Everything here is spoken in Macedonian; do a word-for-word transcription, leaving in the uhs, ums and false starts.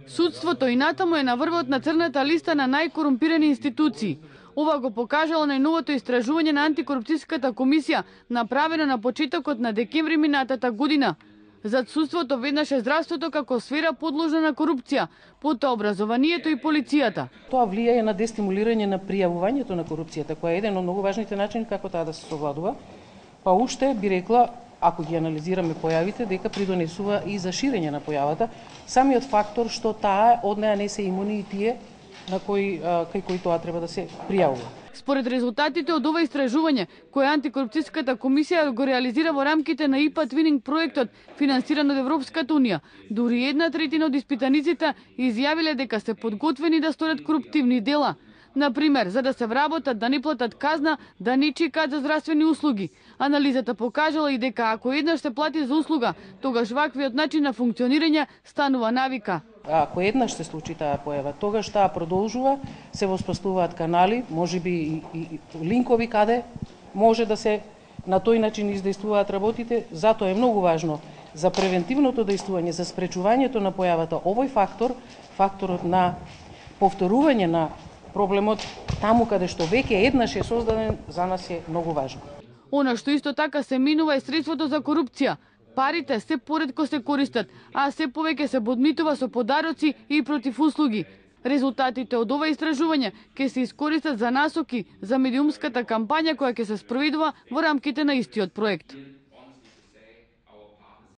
Судството и натаму е на врвот на црната листа на најкорумпирани институции. Ова го покажало најновото истражување на антикорупцијската комисија, направено на почетокот на декември минатата година. Зад судството веднаш е здравството како сфера подложна на корупција, потоа образованието и полицијата. Тоа влијае на дестимулирање на пријавувањето на корупцијата, која е еден од многу важните начини како таа да се совладува. Па уште би рекла, ако ги анализираме појавите, дека придонесува и за ширење на појавата, самиот фактор што таа од неа не се имуни и тие на кои кај кои тоа треба да се пријавува. Според резултатите од ова истражување, кое антикорупцијската комисија го реализира во рамките на ИПА Твининг проектот, финансиран од Европската унија, дури една третина од испитаниците изјавиле дека се подготвени да сторат коруптивни дела. Например, за да се вработат, да не платат казна, да не чекаат за здравствени услуги. Анализата покажала и дека ако еднаш се плати за услуга, тогаш ваквиот начин на функционирање станува навика. Ако еднаш се случи таа појава, тогаш таа продолжува, се воспоставуваат канали, можеби и, и, и линкови каде може да се на тој начин издействуваат работите. Затоа е многу важно за превентивното дејствување, за спречувањето на појавата овој фактор, факторот на повторување на проблемот таму каде што веќе еднаш е создаден, за нас е многу важно. Она што исто така се минува е средството за корупција. Парите се поретко се користат, а се повеќе се подмитува со подароци и против услуги. Резултатите од ова истражување ќе се искористат за насоки за медиумската кампања која ќе се спроведува во рамките на истиот проект.